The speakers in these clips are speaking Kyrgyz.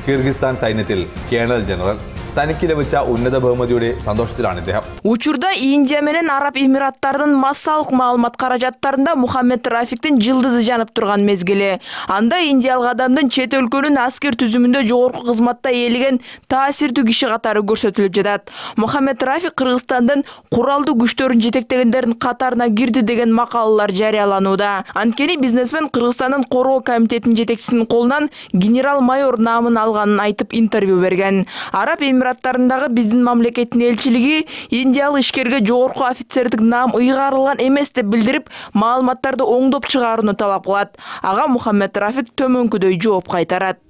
Kyrgyzstan Saynetil Colonel General Tanikilevича уnnада бөлмөдүрү сандоштуран иде. Учурда Индия менен Араб Эмираттарынын массалык маалымат каражаттарында Мухаммед Рафиктин жылдызы жанып турган мезгили. Анда индиялык адамдын чет өлкөнүн аскер түзүмүндө жогорку кызматта ээлеген таасирдүү киши катары көрсөтүлүп жатат. Мухаммед Рафик Кыргызстандын куралдуу күчтөрүн жетектегендердин катарына кирди деген макалалар жарыяланууда. Анткени бизнесмен Кыргызстандын короо комитетинин жетекчисинин колунан генерал-майор наамын алганын айтып интервью берген. Араб Эмираттарындагы биздин мамлекеттин элчилиги индиялык ишкерге жогорку офицердик наам ыйгарылган эмес деп билдирип, маалыматтарды оңдоп чыгарууну талап кылат. Ага Мухаммед Рафик төмөнкүдөй жооп кайтарат.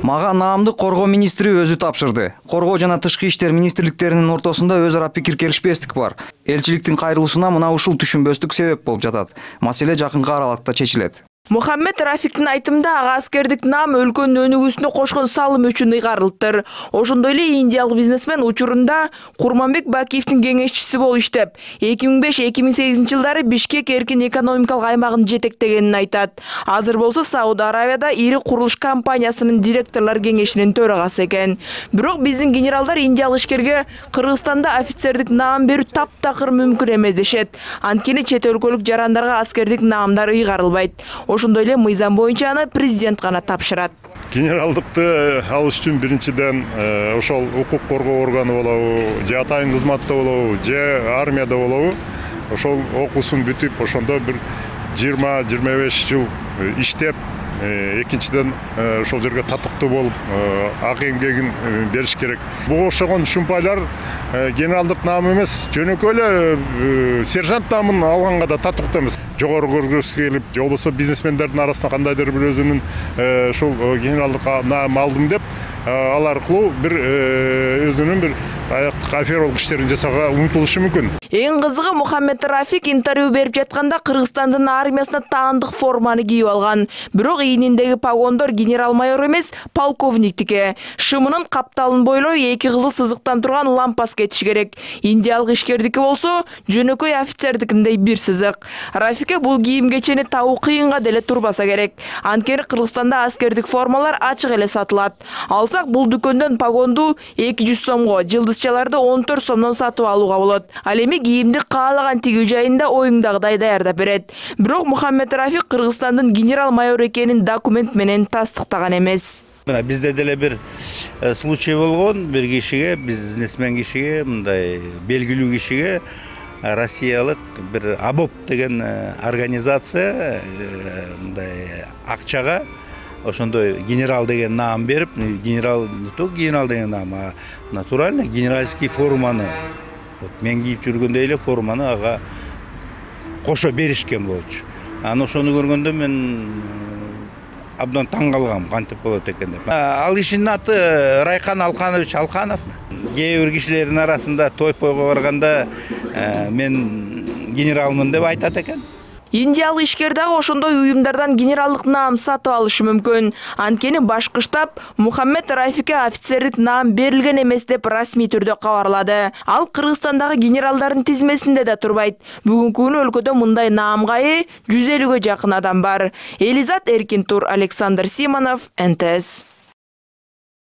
Мага наамды коргоо министри өзү тапшырды. Коргоо жана тышкы иштер министрликтеринин ортосунда өз ара пикир келишпестик бар. Элчиликтин кайрылуусуна мына ушул түшүнбөстүк себеп болуп жатат. Маселе жакынкы аралыкта чечилет. Мухаммед Рафиктин айтымында ага аскердик наам өлкөнүн өнүгүүсүнө кошкон салым үчүн ыйгарылыптыр. Ошондой эле индиялык бизнесмен учурунда Курманбек Бакиевдин кеңешчиси болуп иштеп, 2005-2008 жылдары Бишкек эркин экономикалык аймагын жетектегенин айтат. Азыр болсо Сауд Арабияда ири курулуш компаниясынын директорлор кеңешинин төрагасы экен. Бирок биздин генералдар индиялык ишкерге Кыргызстанда офицердик наам берүү таптакыр мүмкүн эмес дешет. Анткени чет өлкөлүк жарандарга аскердик наамдар ыйгарылбайт. Ошондой эле мыйзам боюнча аны президент гана тапшырат. Генералдыкты алыш үчүн биринчиден ошол укук коргоо органы болобу, же атайын кызматта болобу, же армияда болобу, ошол окуусун бүтүп, ошондо бир 20-25 жыл иштеп, экинчиден ошол жерге татыктуу болуп, ак эмгегин бериш керек. Буга окшогон шумпайлар генералдык наам эмес, жөнөкөй эле сержант наамын алганга да татыктуу эмес. Жогору көргүсү келип, же болбосо бизнесмендердин арасында кандайдыр бир өзүнүн ушул генералдык наам алдым деп, ал аркылуу бир өзүнүн бир аяктык афералык иштерин жасаага умтулушу мүмкүн. Эң кызыгы Мухаммед Рафик интервью берип жатканда Кыргызстандын армиясына таандык форманы кийип алган. Бирок ийниндеги погондор генерал-майор эмес, полковниктики. Шымынын капталын бойлой эки кызыл сызыктан турган лампасы кетиш керек. Индиялык ишкердики болсо жөнөкөй офицердикиндей бир сызык. Рафикке бул кийим кечени табуу кыйынга деле турбаса керек. Анткени Кыргызстанда аскердик формалар ачык эле сатылат. Алсак бул дүкөндөн погонду 200 сомго, жылдызчаларды 14 сомдон сатып алууга болот. Ал эми кийимди каалаган тигүү жайында оюңдагыдай даярдап берет. Бирок Мухаммед Рафик Кыргызстандын генерал-майор экенин документ менен тастыктаган эмес. Бизде деле бир случай болгон, бир кишиге, бизнесмен кишиге, мындай белгилүү кишиге Россиялык бир АБОП деген организация мындай акчага ошондой генерал деген наам берип, генерал не только генерал деген наам, а натурально генеральский форманы, вот мен кийип жүргөндөй эле форманы ага кошо беришкен болчу. Аны ошону көргөндө мен абдан таң калгам, кантип болот экен деп. Ал кишинин аты Райхан Алканович Алканов. Кээ бир кишилердин арасында той-пойго барганда мен генералмын деп айтат экен. Индиялык ишкер дагы ошондой уюмдардан генералдык наам сатып алышы мүмкүн. Анткени башкы штаб Мухаммед Рафикке офицердик наам берилген эмес деп расмий түрдө кабарлады. Ал Кыргызстандагы генералдардын тизмесинде да турбайт. Бүгүнкү күнү өлкөдө мындай наамга 150-ге жакын адам бар. Элизат Эркинтур, Александр Симонов, НТС.